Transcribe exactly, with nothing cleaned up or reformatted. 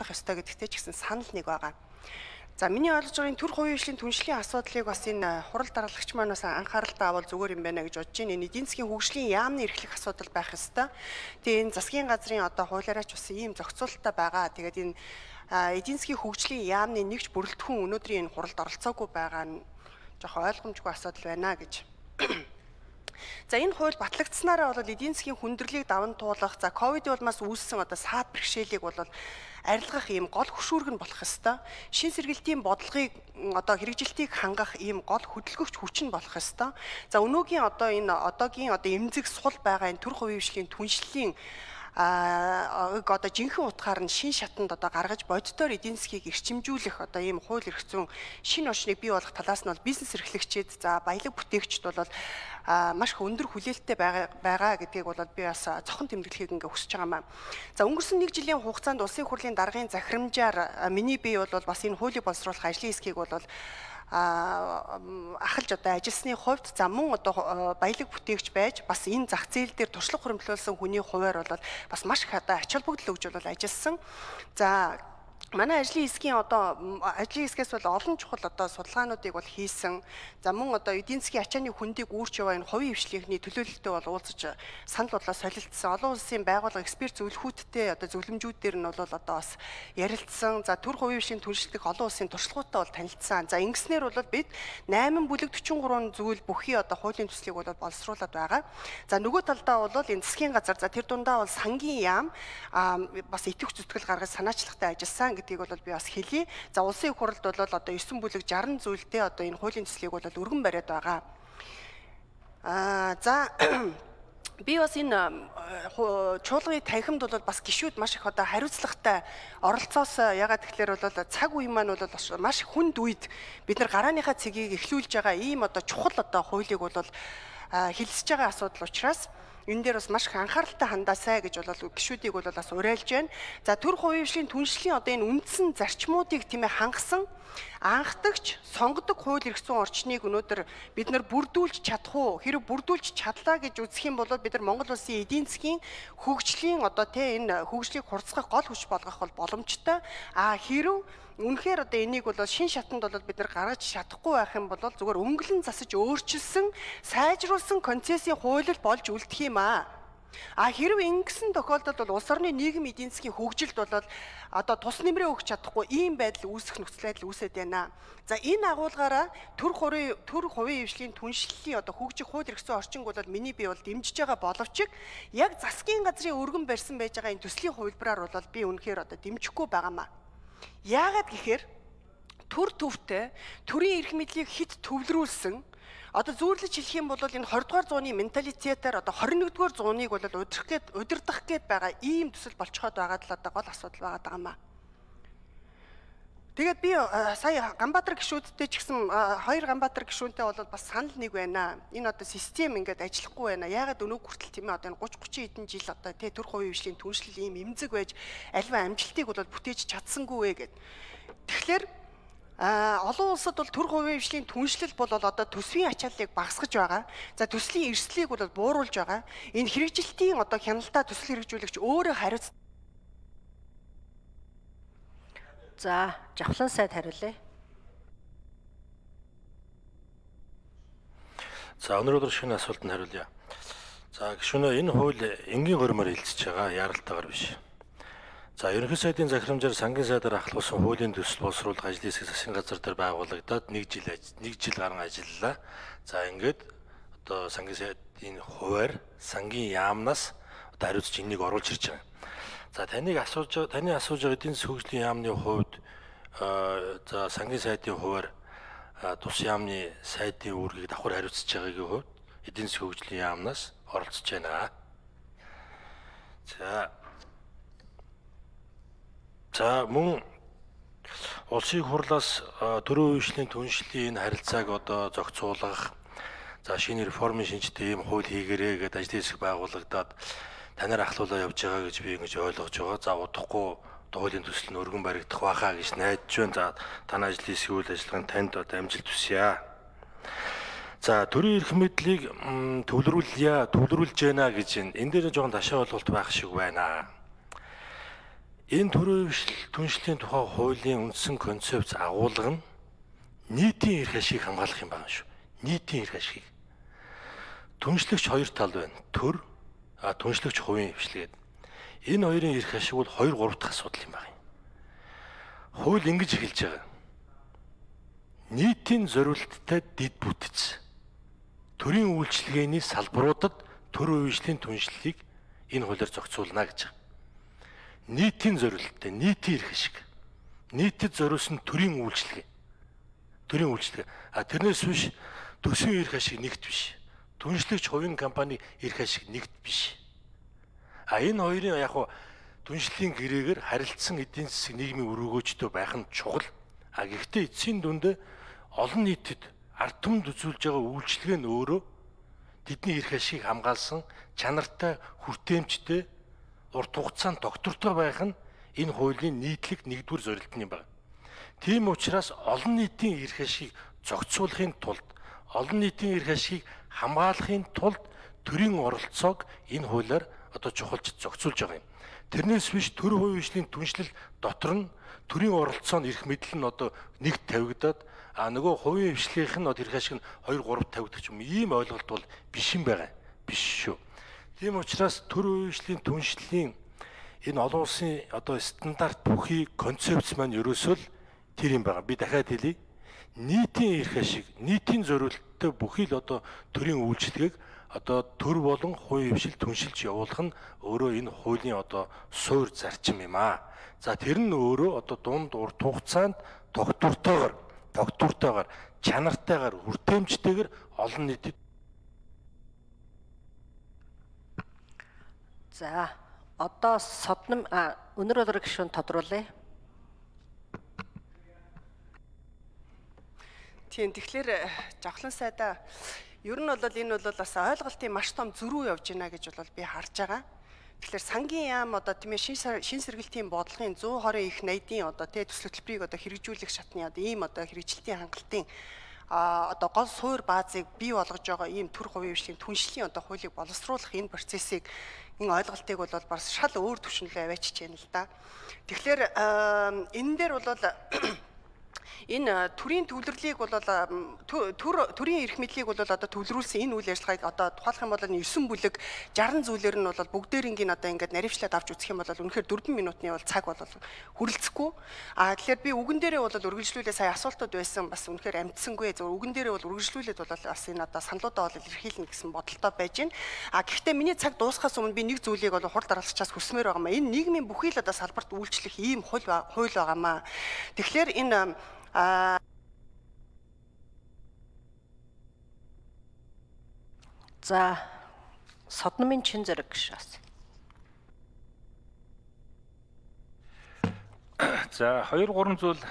ажиллах ёстой гэдэгтэй ч гэсэн санал нэг байгаа. За миний ойлгож байгаа энэ төр хувийн хөгжлийн түншлэлийн асуудлыг бас энэ хурал даргалагч маань бас анхааралтай авал зүгээр юм байна гэж бодож байна. Энэ эдийн засгийн хөгжлийн яамны эрхлэх асуудал байх ёстой. Тэгээ энэ засгийн газрын одоо хуулиараач бас ийм зохицуулалттай байгаа. Тэгээд энэ эдийн засгийн хөгжлийн яамны нэгж бүрэлдэхүүн өнөөдрийн энэ хуралд оролцоогүй байгаа нь жоохон ойлгомжгүй асуудал байна гэж. За энэ хууль батлагдсанаараа бол эдийн засгийн хүндрэлийг даван туулах, за ковидын улмаас үүссэн одоо саад бэрхшээлийг бол арилгах ийм гол хөшүүрэг нь болох ёстой. Шин сэргэлтийн бодлогыг одоо хэрэгжилтийг хангах ийм гол хөдөлгөгч хүч нь болох ёстой. За өнөөгийн одоо энэ одоогийн одоо эмзэг сул байгаа энэ төр хувийн хөгжлийн түншлэлийн а одоо жинхэнэ утгаар нь шин шатанд одоо гаргаж боддоор эдийн засгийг эрчимжүүлэх одоо ийм хууль эрх зүйн шин орчныг бий болгох талаас нь бол бизнес эрхлэгчид за баялаг бүтээгчд бол маш их өндөр хүлээлттэй байгаа байгаа гэдгийг бол би бас цохон тэмдэглэхийг ингээ хүсэж байгаамаа. За өнгөрсөн нэг жилийн хугацаанд улсын хурлын даргын захирамжаар миний бие бол бас энэ хуулийг боловсруулах ажлын хэсгийг бол ахалж одоо ажилласны хувьд за мөн одоо баялаг бүтээгч байж бас энэ зах зээл дээр туршлага хуримтлуулсан хүний хуваар бол бас маш их одоо ач холбогдол өгж бол ажилласан. За манай ажлын хэсгийн одоо ажлын хэсгээс бол олон чухал одоо судалгаануудыг бол хийсэн. За мөн одоо эдийн засгийн ачааны хүндийг үүрч яваа энэ хувийн хвшлийнхний төлөөлөлтөд бол уулзаж санал бодлоо солилцсон. Олон улсын байгууллага эксперт зөвлөхүүдтэй одоо зөвлөмжүүдээр нь бол одоо бас ярилцсан. За төр хувийн хвшлийн түншлэх олон улсын туршлагатай бол танилцсан. За ингэснээр бол бид найман бүлэг төрчин гурван зүйл бүхий одоо хуулийн төслийг бол боловсруулад байгаа. За нөгөө талдаа бол энэ засгийн газар за тэр дундаа бол сангийн яам бас итгэвч зүтгэл гаргаж санаачлагтай ажилласан гэдгийг бол би бас хэлье. За улсын хурлд бол одоо девять бүлэг шестьдесят зүйлтэй одоо энэ хуулийн төслийг бол өргөн бариад байгаа. Аа за би бас энэ чуулганы танхимд бол бас гишүүд маш их одоо хариуцлагатай оролцоос ягаад тэгэхээр бол цаг үе маань бол маш хүнд үед бид нар гарааныхаа цэгийг эхлүүлж байгаа ийм одоо чухал одоо хуулийг бол хэлсэж байгаа асуудал учраас энэ дээр бас маш их анхааралтай хандаасай гэж бол гишүүдийг бол бас уриалж байна. За төр хувийн хвшлийн түншлэлийн одоо энэ үндсэн зарчмуудыг тийм ээ хангасан анхдагч сонгодог хууль эрх зүйн орчныг өнөөдөр бид нар бүрдүүлж чадах уу? Хэрэв бүрдүүлж чадлаа гэж үзэх юм бол бид нар Монгол улсын эдийн засгийн хөгжлийн одоо тийм энэ хөгжлийг хурцгах гол хүч болгох бол боломжтой. А хэрэв үнэхээр одоо энийг бол шин шатанд бол бид нар гаргаж чадахгүй байх юм бол зүгээр өнгөлөн засаж өөрчилсөн сайжруулсан концессийн хууль болж үлдэх юм аа. А хэрвээ ингэсэн тохиолдолд бол улс орны нийгэм эдийн засгийн хөгжилд бол одоо тус нэмрээ өгч чадахгүй ийм байдал үүсэх нөхцөл байдал үүсэж байна. За энэ агуулгаараа төр хувийн төр хувийн хвшлийн түншлэлийн одоо хөгжих хууль эрх зүйн орчинг бол миний бие бол дэмжиж байгаа боловч яг засгийн газрын өргөн барьсан байж байгаа энэ төслийн хувилбараар бол би үнэхээр одоо дэмжихгүй байгаамаа. Яагаад гэхээр төр төвтэй төрийн эрх мэдлийг хит төвлөрүүлсэн одоо зүйрлэж хэлэх юм бол энэ двадцать дугаар зууны менталитетээр одоо двадцать нэгдүгээр зууныг бол удирдах гээд удирдах гээд байгаа ийм төсөл болцоход байгаа л одоо гол асуудал байгаа даамаа. Тэгээд би сая Ганбаатар гишүүдтэй ч гэсэн хоёр Ганбаатар гишүүнтэй бол бас санал нэг байна. Энэ одоо систем ингээд ажиллахгүй байна. Яагаад өнөө хүртэл тийм ээ одоо тридцать forty хэдэн жил одоо тий төр хувийн хвшлийн түншлэл ийм эмзэг байж альва амжилтыг бол бүтээж чадсангүй вэ гэд. Тэгэхээр А олон улсад бол төр хувийн хвшлийн түншлэл бол одоо төсвийн ачааллыг багасгаж байгаа. За төслийн эрсдлийг бол бууруулж байгаа. Энэ хэрэгжилтийн одоо хяналтаа төсөл хэрэгжүүлэгч өөрөө хариуц. За Жавхлан сайд хариулъя. За өнөөдөр шинэ асуултанд хариулъя. За гишүүнээ энэ хууль энгийн гормоор хилцэж байгаа, яаралтайгаар биш. За ерөнхий сайдын захирамжаар сангийн сайдаар ахлуулсан хуулийн төсөл боловсруулах ажлын хэсэг засгийн газар дээр байгуулагдаад нэг жил нэг жил гарan ажиллалаа. За ингээд одоо сангийн сайдын хуваар сангийн яамнаас одоо хариуцж энийг оруулж ирж байгаа. За таныг асууж таны асууж байгаа эдийн засгийн хөгжлийн яамны хувьд за сангийн сайдын хуваар тус яамны сайдын үүргийг давхар хариуцж байгаагийн хувьд эдийн засгийн хөгжлийн яамнаас оролцож байна. За За мөн улсын хурлаас төрийн хвшлийн түншлэлийн энэ харилцааг одоо зохицуулах за шинэ реформын шинжтэй ийм хууль хийгэрээ гэдэг ажлын хэсэг байгуулагдаад танаар ахлуулаа явж байгаа гэж би ингэж ойлгож байгаа. За удахгүй хуулийн төсөл нь өргөн баригдах байхаа гэж найдаж байна. За таны ажлын хэсгийн үйл ажиллагаанд танд одоо амжилт хүсье. За төрийн эрх мэдлийг төвлөрүүлье, төвлөрүүлж байна гэж энэ дээр жоохон ташаа ойлголт байх шиг байна. Энэ төрийн хөвшил түншлэлийн тухай хуулийн үндсэн концепц агуулга нь нийтийн эрх ашиг хамгаалах юм байна шүү. Нийтийн эрх ашиг. Түншлэгч хоёр тал байна. Төр, а түншлэгч хувийн хөвшлгээд. Энэ хоёрын эрх ашиг бол хоёр гурав дахь асуудал юм байна. Хууль ингэж эхэлж байгаа. Нийтийн зориулттай дэд бүтц. Төрийн үйлчилгээний салбаруудад төр үеийн түншлэлийг энэ хуулиар зохицуулна гэж байна. Нийтийн зориулттай, нийтийн эрх ашиг. Нийтэд зориулсан төрийн үйлчилгээ. Төрийн үйлчилгээ. А тэрнээс биш төсвийн эрх ашиг нэгт биш. Түншлэгч хувийн компани эрх ашиг нэгт биш. А энэ хоёрын яг хуу түншлэлийн гэрээгээр харилцсан эдийн засаг нийгмийн өрөөгөөжтэй байх нь чухал. А гэхдээ эцсийн дүндээ олон нийтэд ард түмэнд үзүүлж байгаа үйлчилгээ нь өөрөө тэдний эрх ашиг хамгаалсан чанартай, хүртээмжтэй, урт хугацаанд доктортой байх нь энэ хуулийн нийтлэг нэгдүгээр зорилт нь юм байна. Тийм учраас олон нийтийн эрх ашиг зохицуулахын тулд, олон нийтийн эрх ашиг хамгаалахын тулд төрийн оролцоог энэ хуулиар одоо чухалж зохицуулж байгаа юм. Тэрнээс биш төр хувийн түншлэл дотор нь төрийн оролцоо нь эрх мэдэл нь одоо нэгт тавигдаад а нөгөө хувийн хвшлийнх нь эрх ашиг нь хоёр гурав тавигдах юм. Ийм ойлголт бол биш юм байгаа. Биш шүү. Тийм учраас төр хувийн түншлэлийн энэ олон улсын одоо стандарт бүхий концепц маань ерөөсөө л тэр юм байгаа. Би дахиад хэлье. Нийтийн эрх ашиг, нийтийн зориулттай бүхий л одоо төрийн үйлчилгээг одоо төр болон хувийн хвшил түншилж явуулах нь өөрөө энэ хуулийн одоо суур зарчим юм аа. За тэр нь өөрөө одоо дунд урт хугацаанд тогтвортойгоор, тогтвортойгоор, чанартайгаар, хүртээмжтэйгээр олон нийтэд. За одоо содном өнөр болор гишүүн тодруулъя. Тийм тэгэхээр жавхлан сайдаа ер нь бол энэ бол бас ойлголтын маш том зөрүү явж байна гэж бол би харж байгаа. Тэгэхээр сангийн яам одоо тийм ээ шин сэргэлтийн бодлогын зуун хорин их найдын одоо тэ төсөл хөтөлбөрийг одоо хэрэгжүүлэх шатны одоо ийм одоо хэрэгжилтийн хангалтын а одоо гол суур баазыг бий болгож байгаа ийм төр хувийн хвшлийн түншлийн одоо хуулийг боловсруулах энэ процессыг энэ ойлголтыг бол бас шал өөр түвшинлээ аваачиж байна л да. Тэгэхээр энэ дээр бол энэ төрийн төвлөрлийг бол төр төрийн эрх мэдлийг бол одоо төвлөрүүлсэн энэ үйл ажиллагааг одоо тухайлах юм бол девять бүлэг шестьдесят зүйлэр нь бол бүгдээрингийн одоо ингээд наривчлаад авч үзэх юм бол үнэхээр дөрвөн минутны бол цаг бол хүрэлцэхгүй. А тэгэхээр би үгэн дээрээ бол үргэлжлүүлээ сая асуултууд байсан бас үнэхээр амтсангүй. Зөв үгэн дээрээ бол үргэлжлүүлээд бол бас энэ одоо саналуудаа бол илэрхийлнэ гэсэн бодолтой байж байна. А гэхдээ миний цаг дуусахаас өмнө би нэг зүйлийг бол хурд дараалцчаас хүсмээр байгаа маа. Энэ нийгмийн бүхий л одоо салбарт үйлчлэх ийм хууль хууль байгаа маа. Тэгэхээр энэ А за содномын чин зэрэг гişээс. За хоёр гурван зүйл